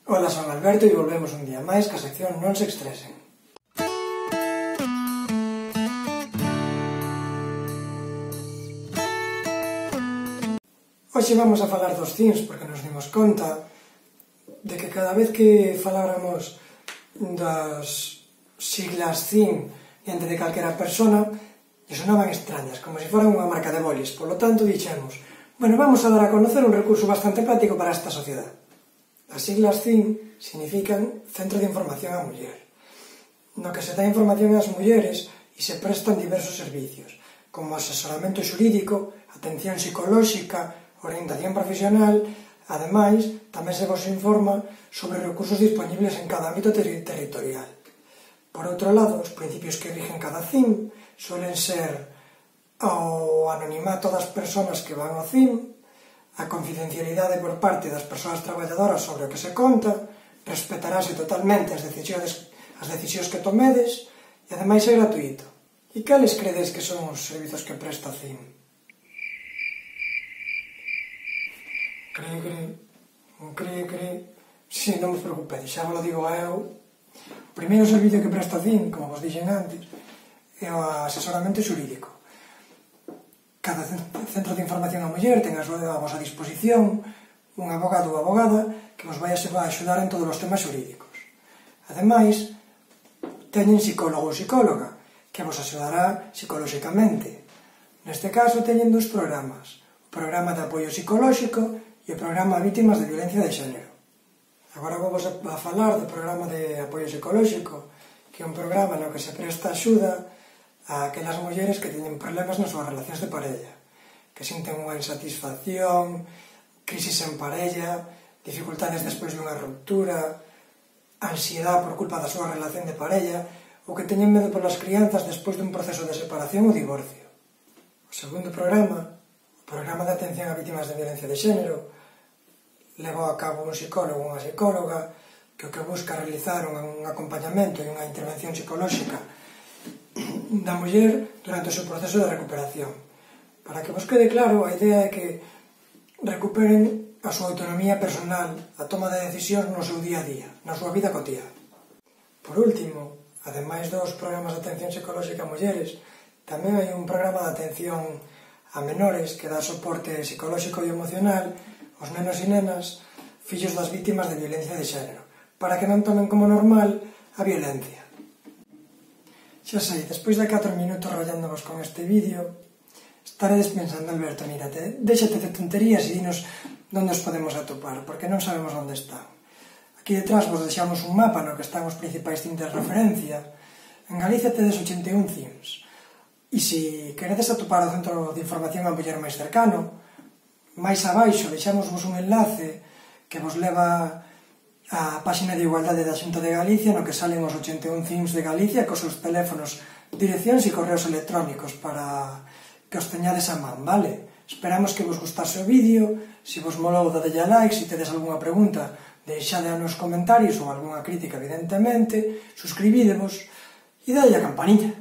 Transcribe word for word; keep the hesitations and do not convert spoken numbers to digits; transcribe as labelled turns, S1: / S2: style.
S1: Ola, son Alberto e volvemos un día máis ca sección Non se estresen. Hoxe vamos a falar dos cins porque nos dimos conta de que cada vez que faláramos das siglas cin diante de calquera persona lle sonaban extrañas, como se foran unha marca de bolis. Por lo tanto, dixemos, bueno, vamos a dar a conocer un recurso bastante práctico para esta sociedade. As siglas cin significan Centro de Información á Muller, no que se dá información ás mulleres e se prestan diversos servicios, como asesoramento xurídico, atención psicolóxica, orientación profesional. Ademais, tamén se vos informa sobre recursos disponibles en cada ámbito ter territorial. Por outro lado, os principios que rigen cada cin suelen ser o anonimato das persoas que van ao cin, a confidencialidade por parte das persoas traballadoras sobre o que se conta, respetarase totalmente as decisións, as decisións que tomedes e ademais é gratuito. E cales credes que son os servizos que presta a cin? Cri, cri, cri, cri... Si, non vos preocupedes, xa vos lo digo eu. O primeiro servicio que presta a cin, como vos dixen antes, é o asesoramento xurídico. Cada centro de información á muller ten a vosa disposición un abogado ou abogada que vos vai a axudar en todos os temas xurídicos. Ademais, teñen psicólogo ou psicóloga que vos axudará psicolóxicamente. Neste caso, teñen dous programas, o programa de apoio psicolóxico e o programa a vítimas de violencia de xénero. Agora vou vos a falar do programa de apoio psicolóxico, que é un programa no que se presta axuda a aquelas mulleres que teñen problemas nas súas relacións de parella, que sinten unha insatisfacción, crisis en parella, dificultades despois dunha ruptura, ansiedade por culpa da súa relación de parella, ou que teñen medo polas crianzas despois dun proceso de separación ou divorcio. O segundo programa, o programa de atención a vítimas de violencia de xénero, leva a cabo un psicólogo ou unha psicóloga que o que busca realizar un acompañamento e unha intervención psicolóxica da muller durante o seu proceso de recuperación. Para que vos quede claro, a idea é que recuperen a súa autonomía personal, a toma de decisións no seu día a día, na súa vida cotiá. Por último, ademais dos programas de atención psicolóxica a mulleres, tamén hai un programa de atención a menores que dá soporte psicolóxico e emocional aos nenos e nenas fillos das vítimas de violencia de xénero, para que non tomen como normal a violencia. Xa sei, despois de catro minutos rollándovos con este vídeo, estaredes pensando, Alberto, mírate, déxate de tonterías e dinos onde os podemos atopar, porque non sabemos onde están. Aquí detrás vos deixamos un mapa no que están os principais cins de referencia. En Galicia tedes ochenta e un cins. E se queredes atopar o centro de información a muller máis cercano, máis abaixo deixamosvos un enlace que vos leva a páxina de igualdade da Xunta de Galicia no que salen os ochenta e un cins de Galicia cos seus teléfonos, direccións e correos electrónicos para que os teñades a man, vale? Esperamos que vos gustase o vídeo. Se vos molou, dadelle a like. Se tedes algunha pregunta, deixade nos comentarios ou algunha crítica, evidentemente. Suscribídevos e dadelle a campaniña.